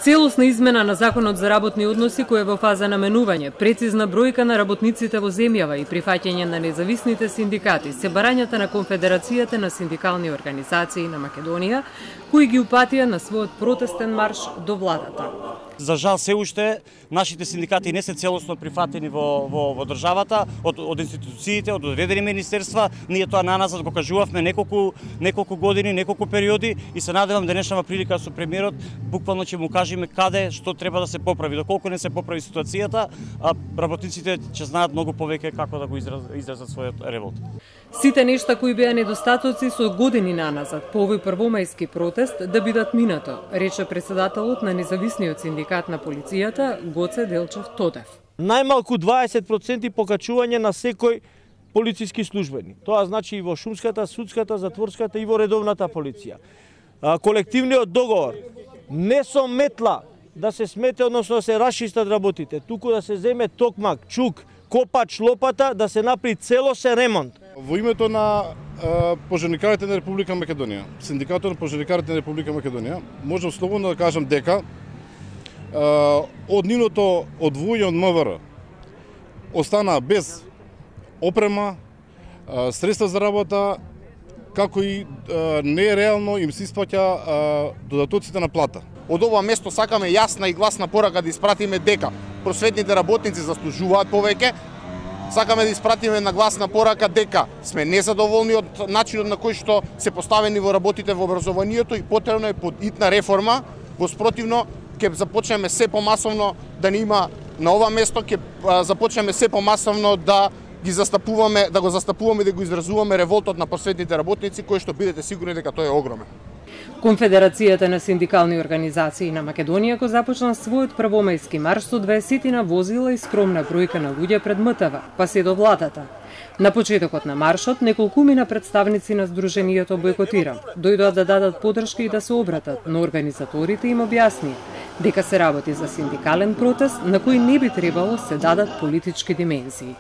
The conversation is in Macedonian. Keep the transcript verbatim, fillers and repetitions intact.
Целосна измена на Законот за работни односи кој е во фаза на менување, прецизна бројка на работниците во земјава и прифаќање на независните синдикати се барањата на Конфедерацијата на синдикални организации на Македонија, кои ги упатија на својот протестен марш до владата. За жал се уште нашите синдикати не се целосно прифатени во, во, во државата, од, од институциите, од одредени министерства. Ние тоа наназад го кажувавме неколку, неколку години, неколку периоди и се надевам денешната прилика со премиерот буквално ќе му кажеме каде, што треба да се поправи. Доколку не се поправи ситуацијата, а работниците ќе знаат многу повеќе како да го израз, изразат својот револт. Сите нешта кои беа недостатоци со години наназад по овој првомајски протест да бидат минато, рече председателот на независниот синдикат на полицијата Гоце Делчев Тодев. Најмалку дваесет проценти покачување на секој полициски службеник. Тоа значи и во шумската, судската, затворската и во редовната полиција. Колективниот договор не со метла да се смете, односно да се расчистат работите, туку да се земе токмак, чук, копач, лопата, да се направи целосен ремонт. Во името на е, пожарникарите на Република Македонија, Синдикатот на пожарникарите на Република Македонија, можам слободно да кажам дека е, од нивното одвојување од МВР остана без опрема, е, средства за работа, како и е, нереално им се испаќа додатоците на плата. Од ова место сакаме јасна и гласна порака да испратиме дека просветните работници заслужуваат повеќе. Сакаме да испратиме на гласна порака дека сме незадоволни од начинот на кој што се поставени во работите во образованието и потребно е подитна реформа. Во спротивно ќе започнеме се помасовно да не има на ова место, ќе започнеме се помасовно да ги застапуваме, да го застапуваме и да го изразуваме револтот на просветните работници, кој што бидете сигурни дека тој е огромен. Конфедерацијата на синдикални организации на Македонија го започна својот првомајски марш со дваесетина возила и скромна бројка на луѓе пред МТВ, па се до владата. На почетокот на маршот неколкумина представници на Сдруженијето бојкотира. Дојдоа да дадат подршка и да се обратат, но организаторите им објасни дека се работи за синдикален протест на кој не би требало се дадат политички димензии.